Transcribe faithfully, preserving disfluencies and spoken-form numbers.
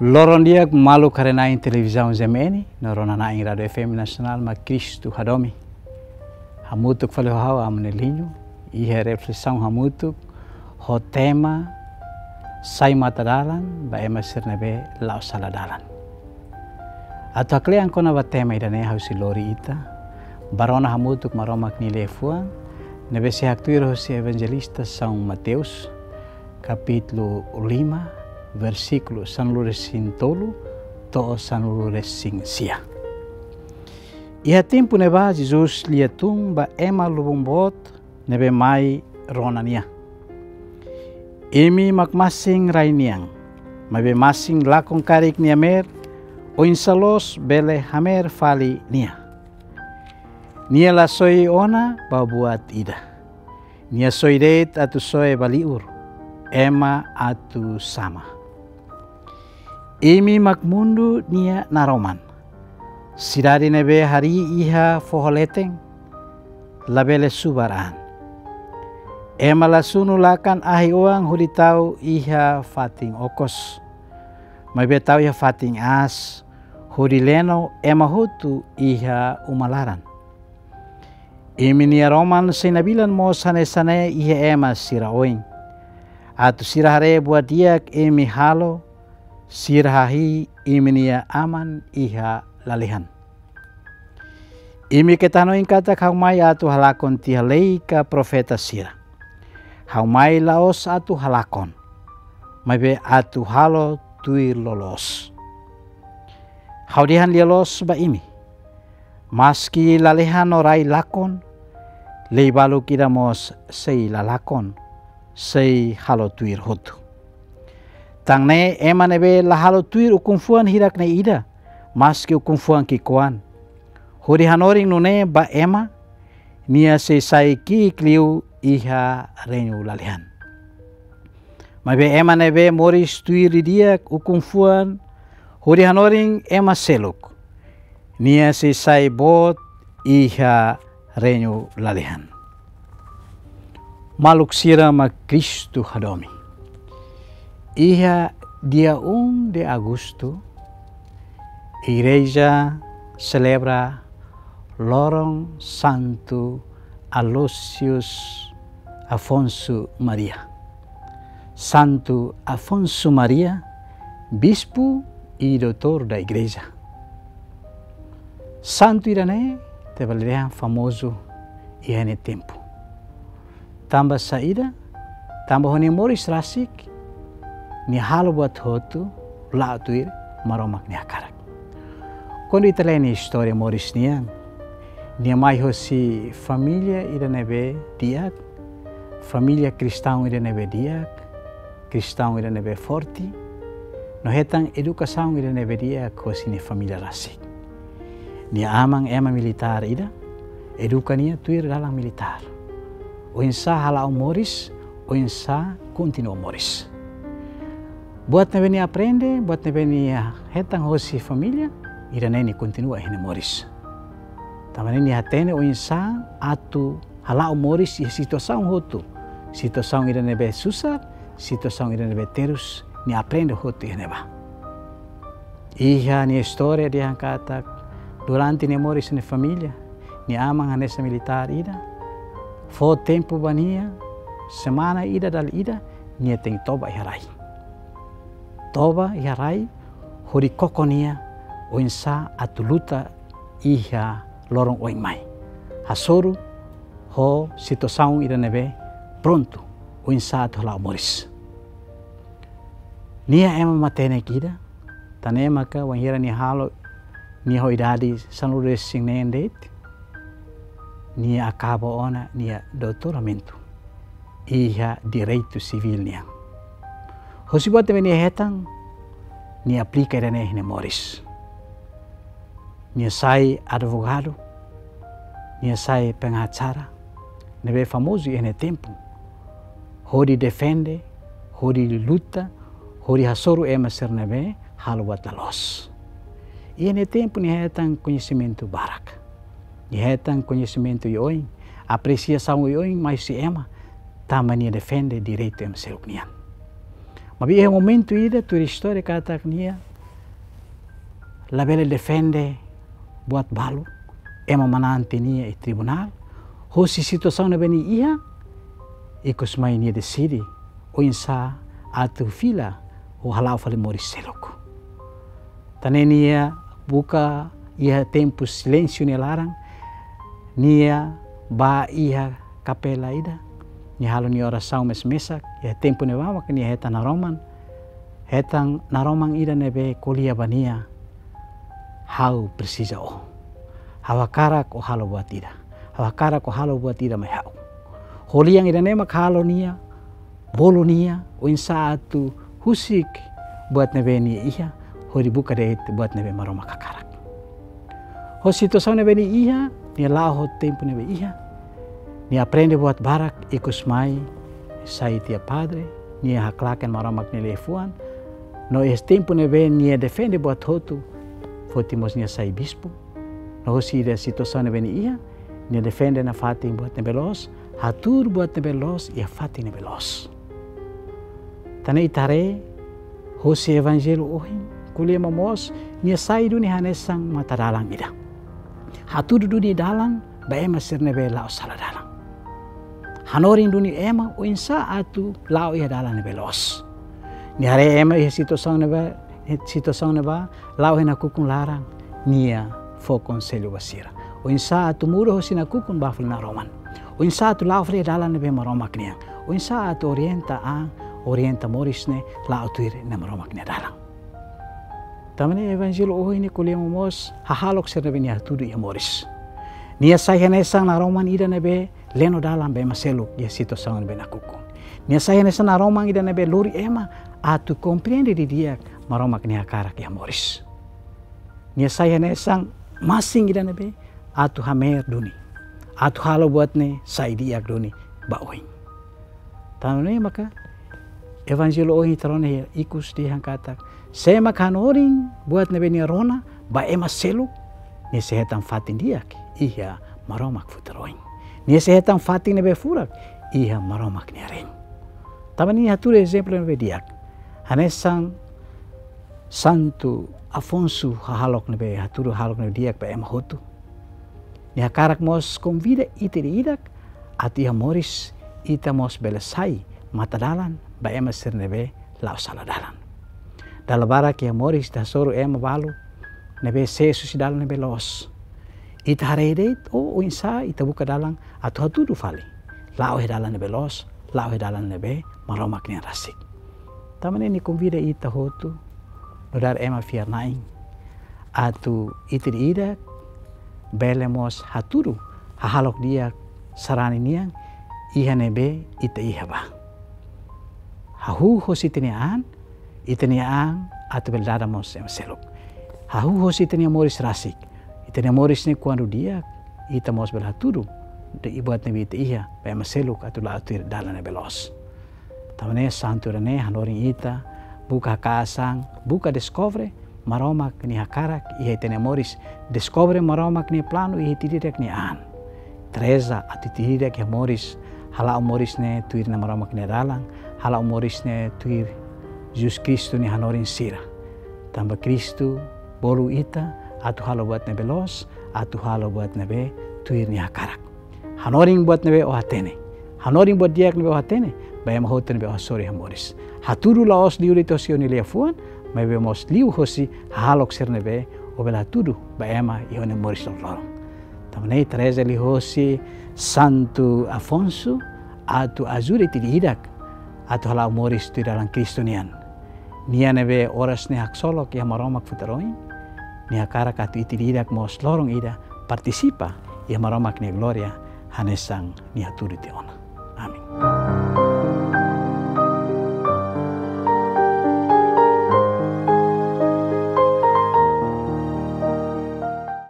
Loron di'ak maluk haree-na'in televizaun G M N, no rona-na'in Rádiu F M Nasionál mak Kristu Hadomi. Hamutuk fali ho ha'u Amu Nelinho, iha reflesaun hamutuk ho tema Sai Matadalan ba Ema Sira Ne'ebé La'o Sala Dalan. Atu haklean kona-ba tema ida-ne'e ha'u sei lori ita ba rona hamutuk Maromak nia liafuan, ne'ebé sei haktuir hosi Evanjelista São Mateus, kapítulu lima, versíkulu sanulu-resin-tolu to'o sanulu-resin-sia. Iha tempu ne'ebá Jesus lia tun ba ema lubun boot ne'ebé mai rona nia: Imi mak masin rai nian, maibé masin lakon karik nia meer, oinsá loos bele hameer fali nia? Nia la soe ona ba buat ida. Nia soe de'it atu soe ba liur, ema atu sama. Imi mak mundu nia naroman. Sidade ne'ebé harii iha foho leten, labele subar an. Ema la sunu lakan ahi-oan hodi tau iha fatin okos, maibé tau iha fatin aas, hodi leno ema hotu iha uma laran. Imi-nia roman sei nabilan mós hanesan ne'e iha ema sira oin, atu sira haree buat di'ak imi halo, sira hahi'i imi-nia Aman iha lalehan. Imi keta hanoin katak ha'u mai atu halakon tiha lei ka profeta sira. Ha'u mai la'ós atu halakon, maibé atu halo tuir loloos. Ha'u dehan lia-loos ba imi: maski lalehan no rai lakon, lei balu ida mós sei la lakon, sei halo tuir hotu. Tan ne'e ema ne'ebé la halo tuir ukun-fuan hirak-ne'e ida, maski ukun-fuan ki'ikoan, hodi hanorin nune'e ba ema, nia sei sai ki'ik liu iha reinu lalehan. Maibé ema ne'ebé moris tuir didi'ak ukun-fuan, hodi hanorin ema seluk, nia sei sai boot iha reinu lalehan. Maluk sira mak Kristu Hadomi. Iha dia um de Agosto, Igreja selebra loron Santu Aloysius Afonso Maria. Santu Afonso Maria, bispu e doutor da Igreja. Santu ida-ne'e ita bele dehan famozu iha nia tempu. Tanba saida? Tanba ho nia moris rasik, nia halo buat hotu la'o tuir Maromak nia hakarak. Kuandu ita lee nia istória moris nian, nia mai hosi família ida ne'ebé di'ak, família kristaun ida ne'ebé di'ak, kristaun ida ne'ebé forte, no hetan edukasaun ida ne'ebé di'ak hosi nia família rasik. Nia aman ema militár ida, eduka nia tuir dalan militár. Oinsá hala'o moris, oinsá kontinua moris. Buat ne'ebé nia aprende, buat ne'ebé nia hetan hosi família, ida-ne'e nia kontinua iha nia moris. Tanba ne'e nia hatene oinsá atu hala'o moris iha situasaun hotu. Situasaun ida ne'ebé susar, situasaun ida ne'ebé terus, nia aprende hotu iha ne'ebá. Iha nia istória dehan katak, durante nia moris iha nia família, nia aman hanesan militár ida, fó tempu ba nia, semana ida dala ida, nia tenke toba iha rai. Toba iha rai, hodi koko nia oinsá atu luta iha loron oin mai. Hasoru ho situasaun ida ne'ebé prontu, oinsá atu hala'o moris. Nia ema matenek ida, tan ne'e maka wainhira nia halo, nia ho idade sanulu-resin-neen de'it, nia akaba ona nia doutoramentu iha direitu sivíl nian. Hosi buat ne'ebé nia hetan, nia aplika ida-ne'e iha nia moris. Nia sai advogadu, nia sai pengacara ne'ebé famozu iha nia tempu, hodi defende, hodi luta, hodi hasoru ema sira ne'ebé halo buat la loos. Iha nia tempu nia hetan koñesimentu barak. Nia hetan koñesimentu oioin, apresiasaun oioin mai husi ema, tanba nia defende direitu ema seluk nian. Maibé iha momentu ida tuir istória katak nia labele defende buat balu, ema manán tiha nia iha tribunál, hosi situasaun ne'ebé nia iha, ikus mai nia deside oinsá atu fila ou hala'o fali moris seluk. Tan ne'e nia buka iha tempu silénsiu nia laran, nia bá iha kapela ida, nia halo nia orasaun mesak-mesak, iha tempu ne'ebá maka nia hetan naroman, hetan naroman ida ne'ebé ko'alia ba nia: Ha'u presiza ó. Ha'u hakarak ó halo buat ida. Ha'u hakarak ó halo buat ida mai ha'u. Ho lian ida-ne'e mak halo nia, bolu nia oinsá atu husik buat ne'ebé nia iha, hodi buka de'it buat ne'ebé Maromak hakarak. Ho situasaun ne'ebé nia iha, nia la'o ho tempu ne'ebé iha, nia aprende buat barak, ikus mai sai tiha padre, nia haklaken Maromak nia liafuan, no iha tempu ne'ebé nia defende buat hotu, foti mós nia sai bispu. No hosi ida situasaun ne'ebé nia iha, nia defende nafatin buat ne'ebé loos, hatuur buat ne'ebé loos iha fatin ne'ebé loos. Tan ne'e ita haree, hosi evanjellu ohin, ko'alia momoos, nia sai duni hanesan matadalan ida. Hatudu duni dalan ba ema sira ne'ebé la'o sala dalan. Hanorin duni ema oinsá atu la'o iha dalan ne'ebé loos. Nia haree ema iha situasaun ne'ebá, situasaun ne'ebá, la'o iha nakukun laran, nia fó konsellu ba sira. Oinsá atu muda hosi nakukun bá fali naroman. Oinsá atu la'o fali dalan ne'ebé Maromak nian. Oinsá atu orienta an, orienta moris ne'e la'o tuir Nai Maromak nia dalan. Tan ne'e evanjellu ohin ne'e ko'alia momoos hahalok sira ne'ebé nia hatudu iha moris. Nia sai hanesan naroman ida ne'ebé leno dalan ba ema seluk iha situasaun ne'ebé nakukun. Nia sai hanesan naroman ida ne'ebé lori ema atu komprende didi'ak Maromak nia hakarak iha moris. Nia sai hanesan masin ida ne'ebé atu hameer duni, atu halo buat ne'e sai di'ak duni ba oin. Tan ne'e maka evanjellu ohin ita rona iha ikus dehan katak, sé mak hanorin buat ne'ebé nia rona ba ema seluk, nia sei hetan fatin di'ak iha Maromak futar oin. Nia sei hetan fatin ne'ebé furak iha Maromak nia reinu. Tan ne'e nia hatudu ezemplu ne'ebé di'ak. Hanesan Santu Afonso hahalok ne'ebé, hatudu hahalok ne'ebé di'ak ba ema hotu. Nia hakarak mós konvida ita ida-idak atu iha moris ita mós bele sai matadalan ba ema sira ne'ebé la'o sala dalan. Dala barak iha moris ita hasoru ema balu ne'ebé sees husi dalan ne'ebé loos. Ita haree de'it, oh, oinsá ita buka dalan atu hatudu fali, la'o iha dalan ne'ebé loos, la'o iha dalan ne'ebé Maromak nian rasik. Tan ne'e nia konvida ita hotu, nu'udar ema fiar-na'in, atu ita ida-idak bele mós hatudu hahalok di'ak sarani nian iha ne'ebé ita iha ba. Hahú hosi ita-nia an, ita-nia an atu bele dada mós ema seluk. Hahú hosi ita-nia moris rasik, ita-nia moris ne'e kuandu di'ak, ita mós bele hatudu de'it buat ne'ebé ita iha ba ema seluk atu la'o tuir dalan ne'ebé loos. Tan ne'e santu ida-ne'e hanorin ita buka haka'as an, buka deskobre Maromak nia hakarak iha ita-nia moris, deskobre Maromak nia planu iha ita ida-idak nia an. Ita reza atu ita ida-idak iha moris hala'o moris ne'e tuir Nai Maromak nia dalan, hala'o moris ne'e tuir Jesus Kristu nia hanorin sira. Tanba Kristu bolu ita atu halo buat ne'ebé loos, atu halo buat ne'ebé tuir nia hakarak. Hanorin buat ne'ebé ó hatene. Hanorin buat di'ak ne'ebé ó hatene ba ema hotu ne'ebé ó hasoru iha moris. Hatudu la'ós liu de'it hosi ó-nia liafuan, maibé mós liu hosi hahalok sira ne'ebé ó bele hatudu ba ema iha ó-nia moris loron-loron. Tan ne'e ita reza liuhosi Santu Afonso atu ajuda ita ida-idak atu hala'o moris tuir dalan Kristu nian. Nia ne'ebé oras ne'e haksolok iha Maromak futar oin, nia hakarak atu ita ida-idak mós loron ida partisipa iha Maromak nia glória hanesan nia hatudu tiha ona.